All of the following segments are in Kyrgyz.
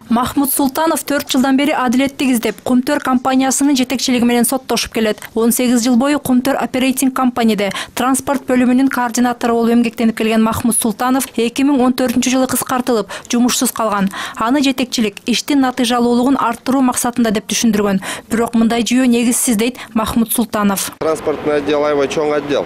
Махмут Султанов 4 жылдан бери адилеттик издеп, Кумтөр компаниясынын жетекчилиги менен соттошуп келет. 18 жыл бою Кумтөр оперейтинг компанияда транспорт бөлүмүнүн координатору болуп эмгектенип келген Махмут Султанов 2014-жылы кыскартылып, жумушсуз калган. Аны жетекчилик иштин натыйжалуулугун арттыруу максатында деп түшүндүргөн. Бирок мындай жүйө негизсиз дейт Махмут Султанов. Транспортный отдел аябай чоң отдел.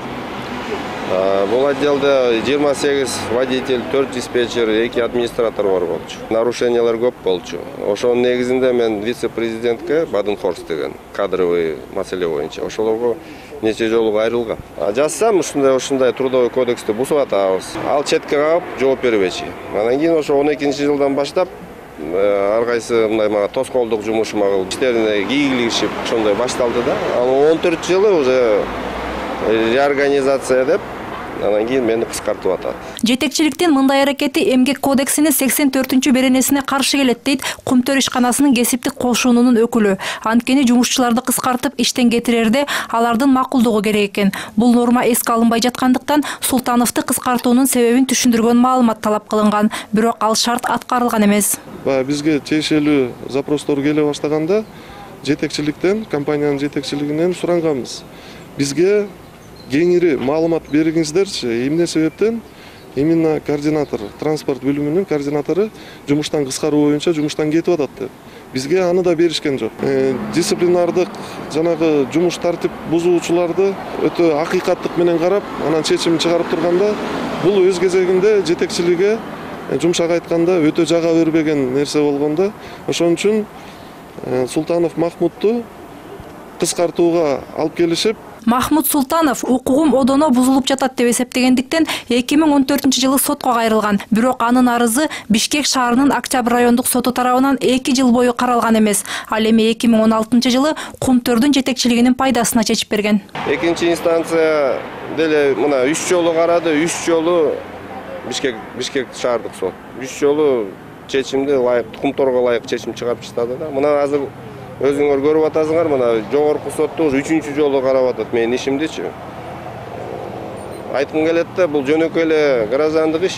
Бул отделде 28 водитель, 4 диспетчер, 2 администратор бар болчу. Нарушениялар көп болчу. Ошонун негизинде мен вице-президентке Баденхорст деген кадровый маселе боюнча ошолорго нече жолу кайрылгам. Жазсам ушундай трудовой кодексти бузуп атабыз. Ал четке кагып жооп бербечи. Анан кийин ошо 12-жылдан баштап ар кайсы мындай мага тоскоолдук жумуш магыл иштерине кийгилишип ошондой башталды да. Ал 14 жылы уже реорганизация деп анан кийин мени кыскартып атат. Жетекчиликтин мындай аракети Эмгек кодексинин 84-беренесине каршы келет дейт Кумтөр ишканасынын кесиптик кошунунун өкүлү. Анткени жумушчуларды кыскартып иштен кетирерде алардын макулдугу керек экен. Бул норма эске алынбай жаткандыктан Султановду кыскартуунун себебин түшүндүргөн маалымат талап кылынган. Бирок ал шарт аткарылган эмес. Бизге тиешелүү запростор келе баштаганда жетекчиликтен, компаниянын жетекчилигинен суранганбыз. Бизге кеңири маалымат бергиңиздерчи, эмне себептен именно координатор, транспорт бөлүмүнүн координатору жумуштан кыскаруу боюнча жумуштан кетип атат деп. Бизге аны да беришкен жок. Дисциплинардык жанагы жумуш тартип бузуучуларды өтө акыйкаттык менен карап, анан чечим чыгарып турганда, бул өз кезегинде жетекчилиге жумшак айтканда өтө жага бербеген нерсе болгондо, ошон үчүн Султанов Махмутту кыскартууга алып келишип, Махмут Султанов укугум одоно бузулуп жатат деп эсептегендиктен 2014-жылы сотко кайрылган. Бирок анын арызы Бишкек шаарынын Октябрь райондук соту тарабынан 2 жыл бою каралган эмес. Ал эми 2016-жылы Кумтөрдүн жетекчилигинин пайдасына чечип берген. Экинчи инстанция деле мына 3 жолу карады, 3 жолу Бишкек шаардык сот. 3 жолу чечимди Кумторго ылайык чечим чыгарып чыктады да. Мына азыр өзүңөр көрүп атасыңар, мына жогорку сотто уже 3-чү жолу карап атат менин ишимдичи. Айткым келет да, бул жөнөкөй эле граждандык иш.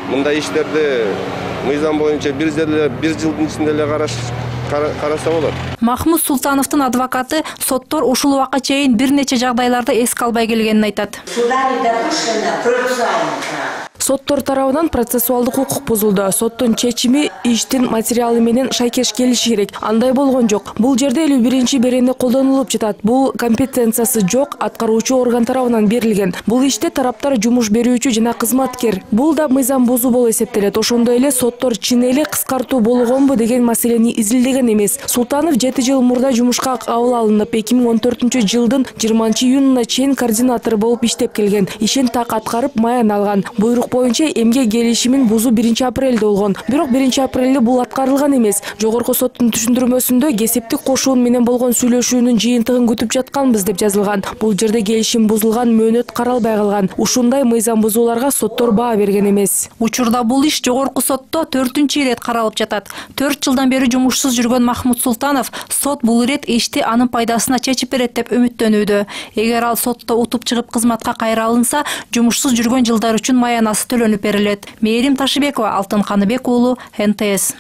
Мындай иштерди мыйзам боюнча бир жылдын ичинде эле караса болот. Махмут Султановдун адвокаты соттор ушул убакка чейин бир нече жагдайларды эске албай келгенин айтат. Соттор тарабынан процессуалдык укук бузулду. Соттун чечими иштин материалы менен шайкеш келиши керек. Андай болгон жок. Бул жерде 51-берене колдонулуп жатат. Бул компетенциясы жок аткаруучу орган тарабынан берилген. Бул иште тараптар жумуш берүүчү жана кызматкер. Бул да мыйзам бузуу болуп эсептелет. Ошондой эле соттор чын эле кыскартуу болгонбу деген маселени изилдеген эмес. Султанов 7 жыл мурда жумушка кабыл алынып, 2014-жылдын 20-июнуна чейин координатор болуп иштеп келген. Ишин так аткарып, маян алган. Буйрук боюнча эмгек келишимин бузуу 1-апрелде болгон. Бирок 1-апрелде бул аткарылган эмес. Жогорку соттун түшүндүрмөсүндө кесиптик кошуун менен болгон сүйлөшүүнүн жыйынтыгын күтүп жатканбыз деп жазылган. Бул жерде келишим бузулган, мөөнөт каралбай калган. Ушундай мыйзам бузууларга соттор баа берген эмес. Учурда бул иш жогорку сотто 4-ирет каралып жатат. 4 жылдан бери жумушсуз жүргөн Махмут Султанов сот бул ирет ишти анын пайдасына чечип берет деп үмүттөнүүдө. Эгер ал сотто утуп чыгып кызматка кайра алынса, жумушсуз жүргөн жылдар үчүн маянасы төлөнүп берилет. Мээрим Ташыбекова, Алтын Каныбек уулу, НТС.